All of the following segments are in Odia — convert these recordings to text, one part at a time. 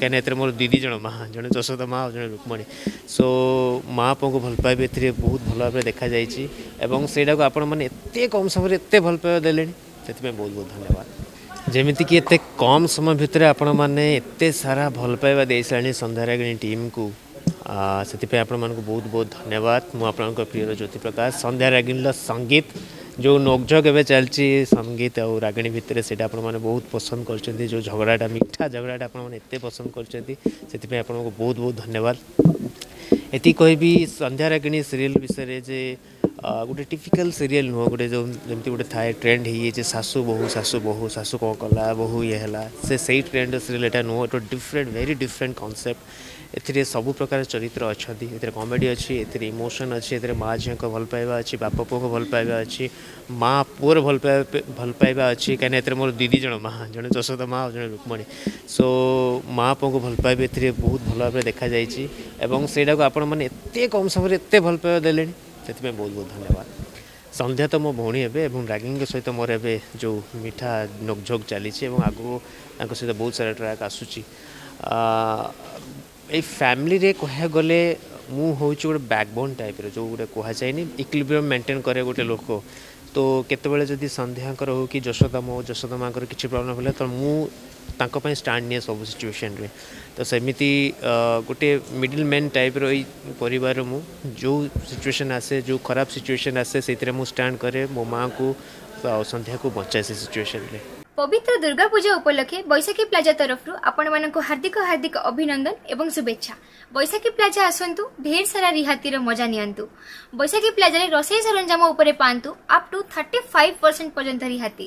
କାହିଁକିନା ଏଥିରେ ମୋର ଦି ଦି ଜଣ ମା, ଜଣେ ଯଶୋଦା ମା ଆଉ ଜଣେ ରୁକ୍ମଣୀ। ସୋ ମା ପୁଅଙ୍କୁ ଭଲ ପାଇବା ଏଥିରେ ବହୁତ ଭଲ ଭାବରେ ଦେଖାଯାଇଛି ଏବଂ ସେଇଟାକୁ ଆପଣମାନେ ଏତେ କମ୍ ସମୟରେ ଏତେ ଭଲ ପାଇବା ଦେଲେଣି, ସେଥିପାଇଁ ବହୁତ ବହୁତ ଧନ୍ୟବାଦ। ଯେମିତିକି ଏତେ କମ୍ ସମୟ ଭିତରେ ଆପଣମାନେ ଏତେ ସାରା ଭଲ ପାଇବା ଦେଇସାରିଲେଣି ସନ୍ଧ୍ୟା ରାଗିଣୀ ଟିମ୍କୁ, ସେଥିପାଇଁ ଆପଣମାନଙ୍କୁ ବହୁତ ବହୁତ ଧନ୍ୟବାଦ। ମୁଁ ଆପଣଙ୍କ ପ୍ରିୟର ଜ୍ୟୋତିପ୍ରକାଶ। ସନ୍ଧ୍ୟା ରାଗିଣୀର ସଙ୍ଗୀତ ଯେଉଁ ନୋକଝୋକ ଏବେ ଚାଲିଛି ସଙ୍ଗୀତ ଆଉ ରାଗିଣୀ ଭିତରେ, ସେଇଟା ଆପଣମାନେ ବହୁତ ପସନ୍ଦ କରୁଛନ୍ତି। ଯେଉଁ ଝଗଡ଼ାଟା, ମିଠା ଝଗଡ଼ାଟା ଆପଣମାନେ ଏତେ ପସନ୍ଦ କରୁଛନ୍ତି, ସେଥିପାଇଁ ଆପଣଙ୍କୁ ବହୁତ ବହୁତ ଧନ୍ୟବାଦ। ଏତିକି କହିବି ସନ୍ଧ୍ୟା ରାଗିଣୀ ସିରିଏଲ୍ ବିଷୟରେ ଯେ ଗୋଟେ ଟିପିକାଲ୍ ସିରିଏଲ୍ ନୁହଁ। ଗୋଟେ ଯେଉଁ ଯେମିତି ଗୋଟେ ଥାଏ ଟ୍ରେଣ୍ଡ ହେଇଯାଇଛି, ଶାଶୁ ବୋହୂ, ଶାଶୁ ବୋହୂ, ଶାଶୁ କ'ଣ କଲା, ବୋହୂ ଇଏ ହେଲା, ସେ ସେଇ ଟ୍ରେଣ୍ଡ ସିରିଏଲ୍ ଏଇଟା ନୁହଁ। ଏଇଟା ଡିଫରେଣ୍ଟ, ଭେରି ଡିଫରେଣ୍ଟ କନସେପ୍ଟ। ଏଥିରେ ସବୁ ପ୍ରକାର ଚରିତ୍ର ଅଛନ୍ତି। ଏଥିରେ କମେଡ଼ି ଅଛି, ଏଥିରେ ଇମୋସନ୍ ଅଛି, ଏଥିରେ ମା ଝିଅଙ୍କ ଭଲ ପାଇବା ଅଛି, ବାପ ପୁଅଙ୍କ ଭଲ ପାଇବା ଅଛି, ମା ପୁଅର ଭଲ ପାଇବା ଅଛି। କାହିଁକିନା ଏଥିରେ ମୋର ଦି ଦି ଜଣ ମା, ଜଣେ ଯଶୋଦା ମା ଆଉ ଜଣେ ରୁକ୍ମଣୀ। ସୋ ମା ପୁଅଙ୍କୁ ଭଲ ପାଇବା ଏଥିରେ ବହୁତ ଭଲ ଭାବରେ ଦେଖାଯାଇଛି ଏବଂ ସେଇଟାକୁ ଆପଣମାନେ ଏତେ କମ୍ ସମୟରେ ଏତେ ଭଲ ପାଇବା ଦେଲେଣି, ସେଥିପାଇଁ ବହୁତ ବହୁତ ଧନ୍ୟବାଦ। ସନ୍ଧ୍ୟା ତ ମୋ ଭଉଣୀ ହେବେ ଏବଂ ରାଗିଣୀଙ୍କ ସହିତ ମୋର ଏବେ ଯେଉଁ ମିଠା ନୋକଝୋକ ଚାଲିଛି ଏବଂ ଆଗକୁ ତାଙ୍କ ସହିତ ବହୁତ ସାରା ଟ୍ରାକ୍ ଆସୁଛି। ଏଇ ଫ୍ୟାମିଲିରେ କହିବାକୁ ଗଲେ ମୁଁ ହେଉଛି ଗୋଟେ ବ୍ୟାକବୋନ୍ ଟାଇପ୍ର, ଯେଉଁ ଗୋଟେ କୁହାଯାଏନି ଇକ୍ୱିଲିବ୍ରିୟମ୍ ମେଣ୍ଟେନ୍ କରେ ଗୋଟେ ଲୋକ। ତ କେତେବେଳେ ଯଦି ସନ୍ଧ୍ୟାଙ୍କର ହେଉ କି ଯଶୋଦା, ମୋ ଯଶୋଦା ମାଆଙ୍କର କିଛି ପ୍ରୋବ୍ଲେମ୍ ହେଲା, ତ ମୁଁ ତାଙ୍କ ପାଇଁ ଷ୍ଟାଣ୍ଡ ନିଏ ସବୁ ସିଚୁଏସନ୍ରେ। ତ ସେମିତି ଗୋଟେ ମିଡ଼ିଲ୍ ମ୍ୟାନ୍ ଟାଇପ୍ର ଏଇ ପରିବାରର ମୁଁ, ଯେଉଁ ସିଚୁଏସନ୍ ଆସେ, ଯେଉଁ ଖରାପ ସିଚୁଏସନ୍ ଆସେ, ସେଇଥିରେ ମୁଁ ଷ୍ଟାଣ୍ଡ କରେ, ମୋ ମାଆଙ୍କୁ ଆଉ ସନ୍ଧ୍ୟାକୁ ବଞ୍ଚାଏ ସେ ସିଚୁଏସନ୍ରେ। ପବିତ୍ର ଦୁର୍ଗା ପୂଜା ଉପଲକ୍ଷେ ବୈଶାଖୀ ପ୍ଲାଜା ତରଫରୁ ଆପଣମାନଙ୍କୁ ହାର୍ଦ୍ଦିକ ହାର୍ଦ୍ଦିକ ଅଭିନନ୍ଦନ ଏବଂ ଶୁଭେଚ୍ଛା। ବୈଶାଖୀ ପ୍ଲାଜା ଆସନ୍ତୁ, ଢେର ସାରା ରିହାତିର ମଜା ନିଅନ୍ତୁ। ବୈଶାଖୀ ପ୍ଲାଜାରେ ରୋଷେଇ ସରଞ୍ଜାମ ଉପରେ ପାଆନ୍ତୁ ଅପ୍ ଟୁ 35% ପର୍ଯ୍ୟନ୍ତ ରିହାତି।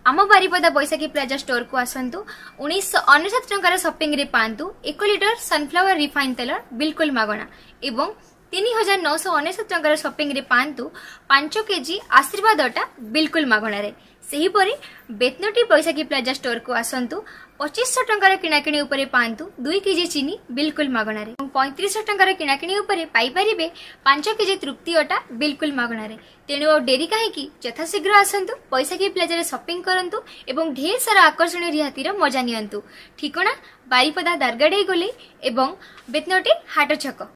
ଆମ ବାରିପଦା ବୈଶାଖୀ ପ୍ଲାଜା ଷ୍ଟୋରକୁ ଆସନ୍ତୁ, 1999 ଟଙ୍କାର ସପିଂରେ ପାଆନ୍ତୁ 1 ଲିଟର ସନଫ୍ଲାୱାର ରିଫାଇନ୍ ତେଲ ବିଲକୁଲ ମାଗଣା ଏବଂ 3999 ଟଙ୍କାର ସପିଂରେ ପାଆନ୍ତୁ 5 କେଜି ଆଶୀର୍ବାଦ ଅଟା ବିଲକୁଲ ମାଗଣାରେ। ସେହିପରି ବେତନଟି ବୈଶାଖୀ ପ୍ଲାଜା ଷ୍ଟୋରକୁ ଆସନ୍ତୁ, 2500 ଟଙ୍କାର କିଣାକିଣି ଉପରେ ପାଆନ୍ତୁ 2 କେଜି ଚିନି ବିଲକୁଲ ମାଗଣାରେ ଏବଂ 3500 ଟଙ୍କାର କିଣାକିଣି ଉପରେ ପାଇପାରିବେ 5 କେଜି ତୃପ୍ତି ଅଟା ବିଲକୁଲ ମାଗଣାରେ। ତେଣୁ ଆଉ ଡେରି କାହିଁକି, ଯଥାଶୀଘ୍ର ଆସନ୍ତୁ ବୈଶାଖୀ ପ୍ଲାଜାରେ ସପିଂ କରନ୍ତୁ ଏବଂ ଢେର ସାରା ଆକର୍ଷଣୀୟ ରିହାତିର ମଜା ନିଅନ୍ତୁ। ଠିକଣା ବାରିପଦା ଦାରଗାଡ଼େଇ ଗୋଲେଇ ଏବଂ ବେତନଟି ହାଟ ଛକ।